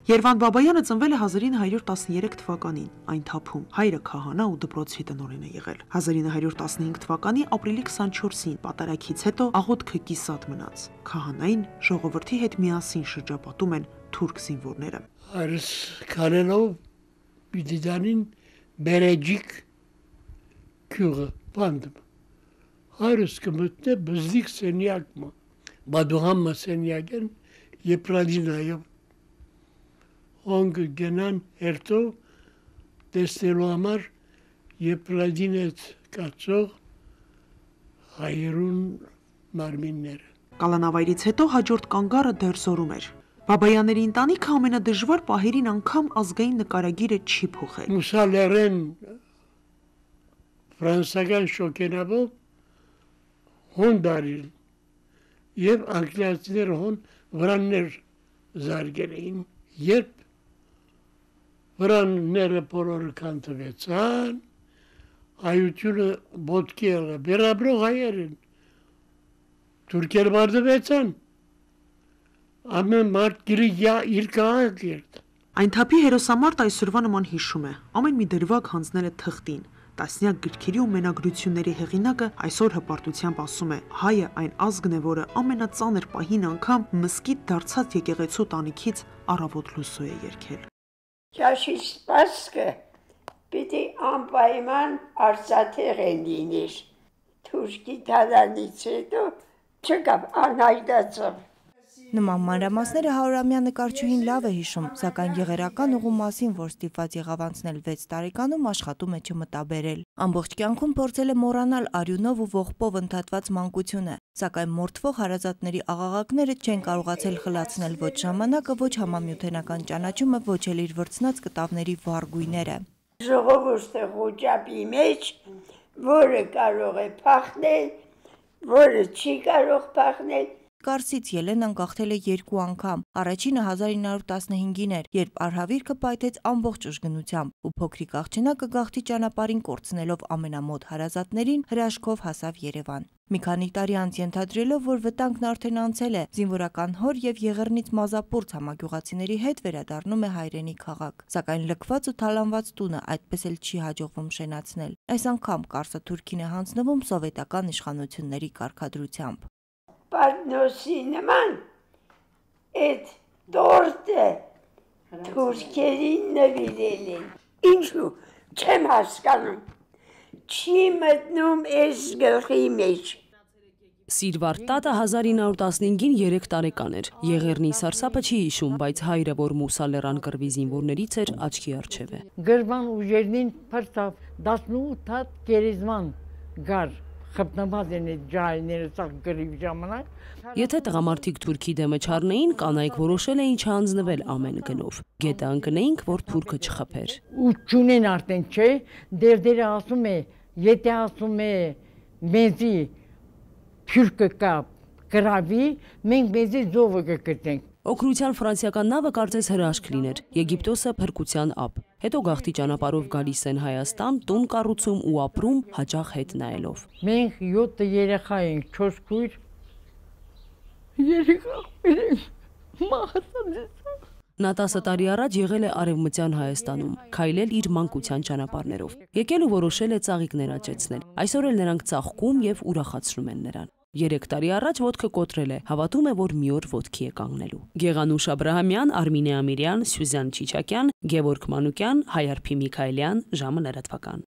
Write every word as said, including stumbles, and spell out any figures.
Երվանդ Բաբայանը ծնվել է հազար ինը հարյուր տասներեք թվականին, այն թափում, հայրը քահանա ու դպրոցի տնօրեն է եղել։ հազար ինը հարյուր տասնհինգ թվականի ապրիլի քսանչորսին պատարագից հետո աղոթքը կիսատ մնաց։ Քահանային ժողովրդի հետ միասին շրջապատում են թուրք զինվորները։ Հայրս քանելով Բիդիդանին բերեջիկ քյուղը բանդում։ Հայրս կմտնե բզդիկ սենյակը, բադուհամը սենյակեն եպրադինայով Ոնգ գնան հերթո տեսնելու համար եպրադին այդ կացող հայերուն մարմինները։ Կալանավայրից հետո հաջորդ կանգառը դեռ զորում էր։ Բաբայանների ընտանիքը ամենադժվար պահերին անգամ ազգային նկարագիրը չի փոխել։ Մուսալերեն ֆրանսական շոկենաբով հոն դարին և անգլիացիները հոն վրաններ զարգել էին, երբ վրանները բոլորը կանտվեցան, հայությունը ոտքի եղը, բերաբրող հայեր են, թուրքեր մարդվեցան, ամեն մարդ գիրի իր կաղաք երդ։ Այն թափի հերոսամարտ այսօրվա նման հիշում է, ամեն մի դրվագ հանձնել է թղթին, տասնյակ գրքերի ու մենագրությունների հեղինակը այսօր հպարտությամբ ասում է, հայը այն ազգն է, որը ամենածանր պահին անգամ մզկիթ դարձած եկեղեցու տանիքից առավոտ լուսո է երգել։ Ճաշի սպասքը պիտի անպայման արծաթեղ են լինիր, թուրքի թալանից հետո չկավ անհայտացավ։ Նման մանրամասները հարյուրամյա նկարչուհին լավ է հիշում, սակայն եղերական ուղու մասին, որ ստիպված եղավ անցնել վեց տարեկանում, աշխատում է չմտաբերել։ Ամբողջ կյանքում փորձել է մոռանալ արյունով ու ողբով ընդհատված մանկությունը, սակայն մորթվող հարազատների աղաղակները չեն կարողացել խլացնել ոչ ժամանակը, ոչ համամիութենական ճանաչումը, ոչ էլ իր վրձնած կտավների վառ գույները։ Ժողովուրդը ղոճապի մեջ, որը կարող է փախնել, որը չի կարող փախնել։ Կարսից Ելենան գաղթել է երկու անգամ, առաջինը հազար ինը հարյուր տասնհինգին էր, երբ արհավիրքը պայթեց ամբողջ ուժգնությամբ, ու փոքրիկ աղջնակը գաղթի ճանապարհին կորցնելով ամենամոտ հարազատներին հրաշքով հասավ Երևան։ Մի քանի տարի անց ենթադրելով, որ վտանգն արդեն անցել է, զինվորական հոր և Եղեռնից Մազապուրց համագյուղացիների հետ վերադառնում է հայրենի քաղաք, սակայն լքված ու թալանված տունը այդպես էլ չի հաջողվում շենացնել։ Այս անգամ Կարսը թուրքին է հանձնվում սովետական իշխանությունների կարգադրությամբ։ Պատնոսի նման այդ տորտը թուրքերին նվիրել են, ինչու չեմ հասկանում, չի մտնում այս գլխի մեջ։ Սիրվարդ տատը հազար ինը հարյուր տասնհինգին երեք տարեկան էր, Եղեռնի սարսափը չի հիշում, բայց հայրը, որ մուսալերան կռվի զինվորներից էր, աչքի առջև է։ Գրվան ուժերնին փրտավ տասնութ հատ գերեզման գար խպնված են այդ ջահիները սաղ գրիվ ժամանակ։ Եթե տղամարդիկ թուրքի դեմը չառնեին, կանայք որոշել էին չհանձնվել ամեն գնով։ Գետը ընկնեինք, որ թուրքը չխփեր։ Ու չունեն արդեն, չէ, դերդերը ասում է, եթե ասում է մեզի թուրքը կա գրավի, մենք մեզի զովը կգտնենք։ Օգնության ֆրանսիական նավը կարծես հրաշք լիներ, Եգիպտոսը փրկության ափ։ Հետո գաղթի ճանապարհով գալիս են Հայաստան, տուն կառուցում ու ապրում հաճախ հետ նայելով։ Մենք յոթ երեխա ենք, չորս քույր, երեխա մահացած։ Նա տասը տարի առաջ եղել է Արևմտյան Հայաստանում, քայլել իր մանկության ճանապարհներով։ Եկել ու որոշել է ծաղիկներ աճեցնել։ Այսօր էլ նրանք ծաղկում և ուրախացնում են նրան։ Երեք տարի առաջ ոտքը կոտրել է, հավատում է, որ մի օր ոտքի է կանգնելու։ Գեղանուշ Աբրահամյան, Արմինե Ամիրյան, Սյուզան Չիչակյան, Գևորգ Մանուկյան, Հայարփի Միքայելյան, ժամը լրատվական։